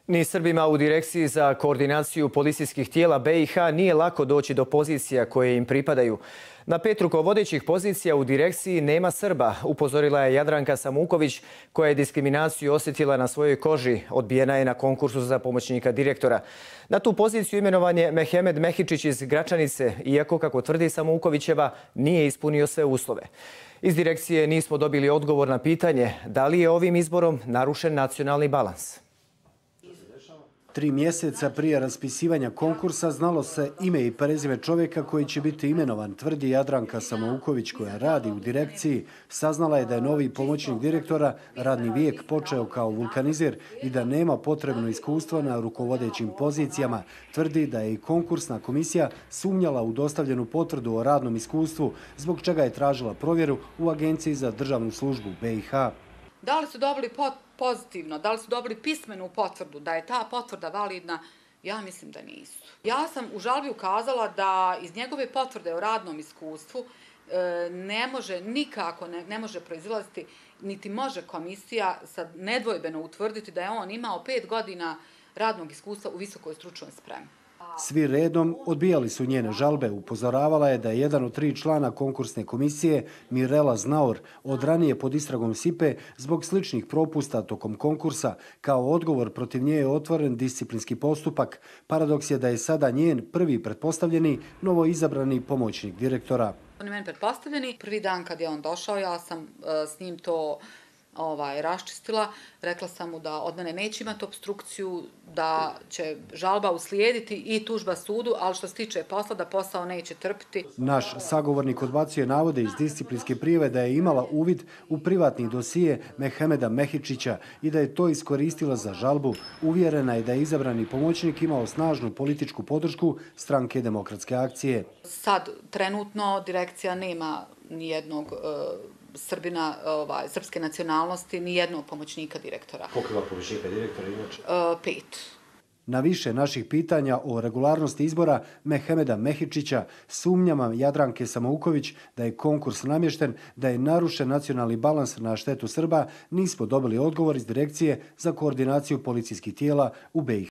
Ni Srbima u Direkciji za koordinaciju policijskih tijela BiH nije lako doći do pozicija koje im pripadaju. Na 5 rukovodećih pozicija u direkciji nema Srba, upozorila je Jadranka Samuković, koja je diskriminaciju osjetila na svojoj koži. Odbijena je na konkursu za pomoćnika direktora. Na tu poziciju imenovan je Mehmed Mehičić iz Gračanice, iako, kako tvrdi Samukovićeva, nije ispunio sve uslove. Iz direkcije nismo dobili odgovor na pitanje da li je ovim izborom narušen nacionalni balans. 3 mjeseca prije raspisivanja konkursa znalo se ime i prezime čovjeka koji će biti imenovan, tvrdi Jadranka Samouković, koja radi u direkciji. Saznala je da je novi pomoćnik direktora radni vijek počeo kao vulkanizir i da nema potrebno iskustvo na rukovodećim pozicijama. Tvrdi da je i konkursna komisija sumnjala u dostavljenu potvrdu o radnom iskustvu, zbog čega je tražila provjeru u Agenciji za državnu službu BiH. Da li su dobili pozitivno, da li su dobili pismenu potvrdu, da je ta potvrda validna? Ja mislim da nisu. Ja sam u žalbi ukazala da iz njegove potvrde o radnom iskustvu nikako ne može proizilaziti, niti može komisija sad nedvojbeno utvrditi da je on imao 5 godina radnog iskustva u visokoj stručnoj spremi. Svi redom odbijali su njene žalbe. Upozoravala je da je jedan od 3 člana konkursne komisije, Mirela Znaur, od ranije pod istragom SIPE zbog sličnih propusta tokom konkursa. Kao odgovor protiv nje je otvoren disciplinski postupak. Paradoks je da je sada njen prvi pretpostavljeni novoizabrani pomoćnik direktora. On je meni pretpostavljeni. Prvi dan kad je on došao, ja sam s njim to raščistila. Rekla sam mu da od mene neće imati opstrukciju, da će žalba uslijediti i tužba sudu, ali što se tiče posla, da posao neće trpiti. Naš sagovornik odbacuje navode iz disciplinske prijave da je imala uvid u privatni dosije Mehmeda Mehičića i da je to iskoristila za žalbu. Uvjerena je da je izabrani pomoćnik imao snažnu političku podršku Stranke demokratske akcije. Sad, trenutno, direkcija nema nijednog Srbina srpske nacionalnosti, ni jednog pomoćnika direktora. Koliko ima pomoćnika direktora inače? 5. Na više naših pitanja o regularnosti izbora Mehmeda Mehičića, sumnjama Jadranke Samouković da je konkurs namješten, da je narušen nacionalni balans na štetu Srba, nismo dobili odgovor iz Direkcije za koordinaciju policijskih tijela u BiH.